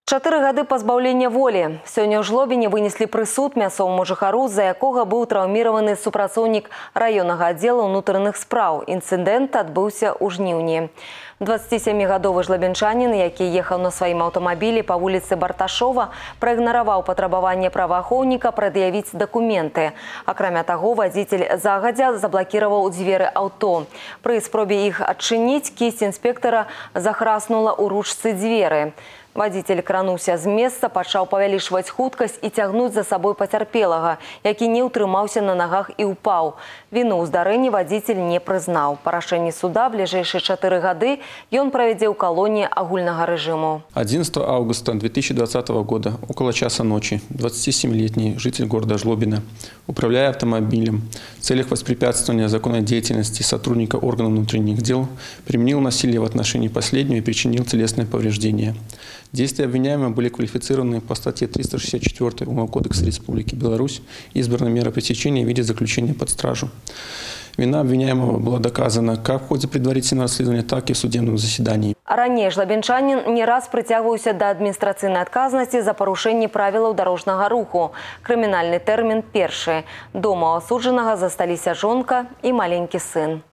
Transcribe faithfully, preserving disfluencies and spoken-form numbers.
Чатыры гады пазбаўлення волі. Сёння ў Жлобіне вынеслі прысуд мясцоваму жыхару, за якога быў траўміраваны супрацоўнік раённага аддзела ўнутраных спраў. Інцыдэнт адбыўся ў жніўні. дваццацісямігадовы жлабенчанін, які ехаў на сваім аўтамабілі па вуліцы Барташова, праігнараваў патрабаванне праваахоўніка прад'явіць дакументы. Акрамя таго, вадзіцель загадзя заблакіраваў дзверы аўто. Пры спробе іх адчыніць, кісць інспектара захраснула ў ручцы дзверы. Вадзіцель крануўся з месца, пачаў павялічваць хуткасць і цягнуць за сабой пацярпелага, які не ўтрымаўся на нагах і ўпаў. Віну ў здарэнні вадзіцель не прызнаў. Па рашэнні суда бліжэйшыя чатыры гады ён правядзе ў калоніі агульнага рэжыму. одиннадцатого августа две тысячи двадцатого года, около часа ночи, двадцатисемилетний житель города Жлобина, управляя автомобилем в целях воспрепятствования законной деятельности сотрудника органов внутренних дел, применил насилие в отношении последнего и причинил телесные повреждения. Действия обвиняемого были квалифицированы по статье триста шестьдесят четыре Уголовного кодекса Республики Беларусь. Избрана мера пресечения в виде заключения под стражу. Вина обвиняемого была доказана как в ходе предварительного расследования, так и в судебном заседании. Ранее жлабенчанин не раз притягивался до административной отказности за порушение правил дорожного руху. Криминальный термин перший. Дома у осудженного застались жонка и маленький сын.